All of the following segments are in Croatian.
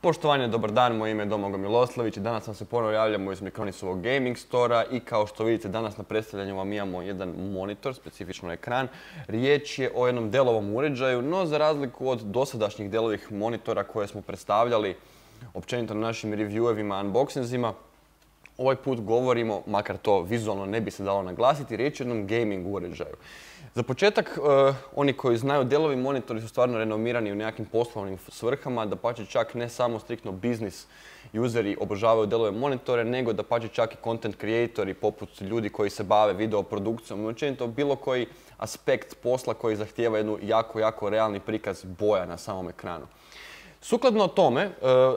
Poštovanje, dobar dan, moje ime je Domagoj Miloslavljević i danas vam se ponovno javljamo iz Micronisovog Gaming Stora i kao što vidite danas na predstavljanju vam imamo jedan monitor, specifično ekran. Riječ je o jednom Dellovom uređaju, no za razliku od dosadašnjih Dellovih monitora koje smo predstavljali općenito na našim reviewevima, unboxingzima, ovaj put govorimo, makar to vizualno ne bi se dalo naglasiti, riječ je o jednom gaming uređaju. Za početak, oni koji znaju, Dellovi monitori su stvarno renomirani u nekakvim poslovnim svrhama, dapače čak ne samo striktno biznis useri obožavaju Dellove monitore, nego dapače čak i content creatori poput ljudi koji se bave videoprodukcijom i općenito bilo koji aspekt posla koji zahtijeva jednu jako realni prikaz boja na samom ekranu. Sukladno tome,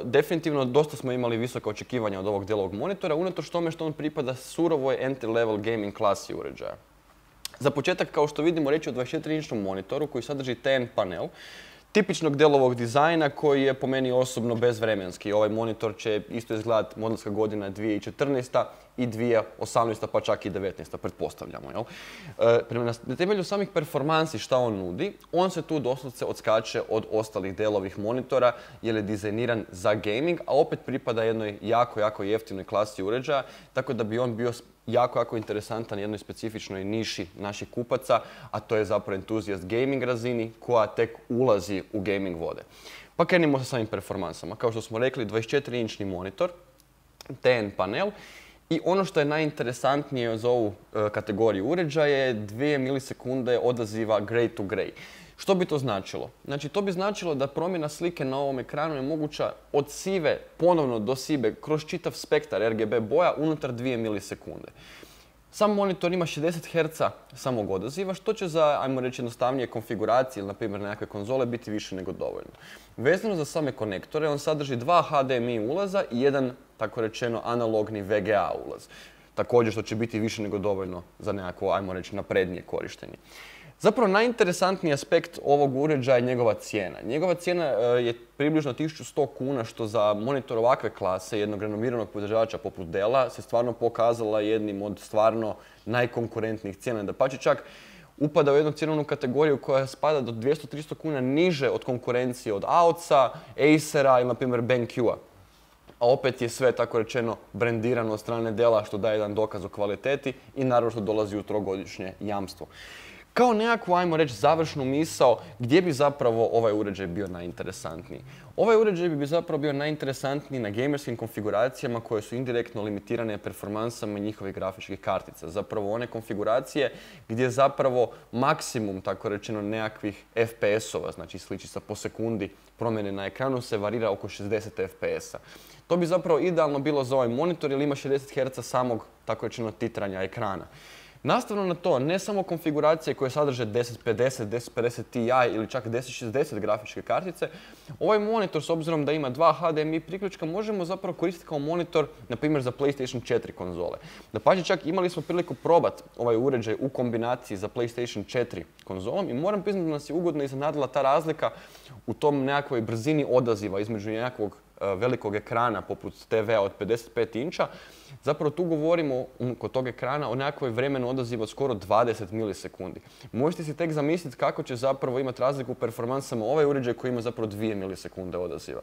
definitivno dosta smo imali visoka očekivanja od ovog Dellovog monitora, unatoč tome što on pripada surovoj entry-level gaming klasi uređaja. Za početak, kao što vidimo, riječ je o 24-inčnom monitoru koji sadrži TN panel, tipičnog Dellovog dizajna koji je po meni osobno bezvremenski. Ovaj monitor će isto izgledati modelska godina 2014. i 2018. pa čak i 2019. pretpostavljamo. Na temelju samih performansi šta on nudi, on se tu doslovce odskače od ostalih Dellovih monitora jer je dizajniran za gaming, a opet pripada jednoj jako jeftinoj klasi uređaja, tako da bi on bio jako interesantan jednoj specifičnoj niši naših kupaca, a to je zapravo entuzijast gaming razini koja tek ulazi u gaming vode. Pa krenimo sa samim performansama. Kao što smo rekli, 24-inčni monitor, TN panel, i ono što je najinteresantnije za ovu kategoriju uređaja je 2 milisekunde odaziva gray to gray. Što bi to značilo? Znači, to bi značilo da promjena slike na ovom ekranu je moguća od sive ponovno do sive kroz čitav spektar RGB boja unutar 2 milisekunde. Sam monitor ima 60 Hz samog odaziva, što će za, ajmo reći, jednostavnije konfiguracije ili, na primjer, nekakve konzole biti više nego dovoljno. Vezano za same konektore, on sadrži 2 HDMI ulaza i jedan, tako rečeno, analogni VGA ulaz. Također, što će biti više nego dovoljno za nekako, ajmo reći, naprednije korištenje. Zapravo, najinteresantniji aspekt ovog uređaja je njegova cijena. Njegova cijena je približno 1100 kuna, što za monitor ovakve klase, jednog renomiranog proizvođača poput Della, se stvarno pokazala jednim od stvarno najkonkurentnijih cijena. Dapače čak upada u jednu cjenovnu kategoriju koja spada do 200-300 kuna niže od konkurencije od AOC-a, Acera ili, na primjer, BenQ-a. A opet je sve, tako rečeno, brendirano od strane Della, što daje jedan dokaz o kvaliteti i naravno što dolazi u trogodišnje jamstvo. Kao nekakvu, ajmo reći, završnu misao gdje bi zapravo ovaj uređaj bio najinteresantniji. Ovaj uređaj bi zapravo bio najinteresantniji na gamerskim konfiguracijama koje su indirektno limitirane performansama njihovih grafičkih kartica. Zapravo one konfiguracije gdje zapravo maksimum, tako rečeno, nekakvih FPS-ova, znači sličica po sekundi promjene na ekranu, se varira oko 60 FPS-a. To bi zapravo idealno bilo za ovaj monitor jer ima 60 Hz samog, tako rečeno, titranja ekrana. Nastavno na to, ne samo konfiguracije koje sadrže 1050, 1050 Ti ili čak 1060 grafičke kartice, ovaj monitor, s obzirom da ima 2 HDMI priključka, možemo zapravo koristiti kao monitor, na primjer, za PlayStation 4 konzole. Dapače, čak imali smo priliku probati ovaj uređaj u kombinaciji za PlayStation 4 konzolom i moram priznati da nas je ugodno iznenadila ta razlika u tom nekakvoj brzini odaziva između nekakvog velikog ekrana poput TV-a od 55 inča. Zapravo tu govorimo kod tog ekrana o nekakvoj vremenu odaziva skoro 20 milisekundi. Možete si tek zamisliti kako će zapravo imati razliku u performansama ovaj uređaj koji ima zapravo 2 milisekunde odaziva.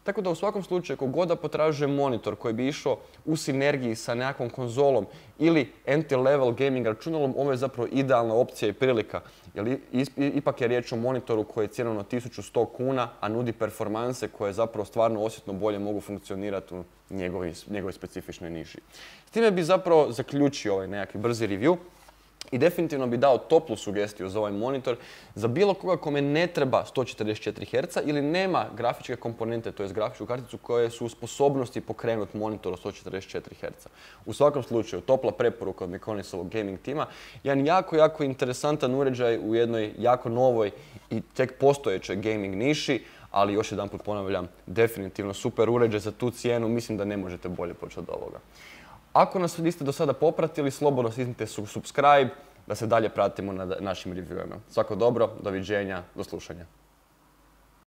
Tako da u svakom slučaju, kogod da potražuje monitor koji bi išao u sinergiji sa nekakvom konzolom ili entry-level gaming računalom, ovo je zapravo idealna opcija i prilika. Jer ipak je riječ o monitoru koji je cjenovno 1100 kuna, a nudi performanse koje zapravo stvarno osjetno bolje mogu funkcionirati u njegovoj specifičnoj niši. S time bi zapravo zaključio ovaj nekakvi brzi review i definitivno bi dao toplu sugestiju za ovaj monitor za bilo koga kome ne treba 144 Hz ili nema grafičke komponente, to je grafičku karticu koje su u sposobnosti pokrenuti monitor od 144 Hz. U svakom slučaju, topla preporuka od Micronisovog gaming tima, jedan jako interesantan uređaj u jednoj jako novoj i tek postojećoj gaming niši, ali još jedanput ponavljam, definitivno super uređaj za tu cijenu, mislim da ne možete bolje početi od ovoga. Ako nas niste do sada popratili, slobodno stisnite subscribe da se dalje pratimo na našim reviewima. Svako dobro, doviđenja, do slušanja.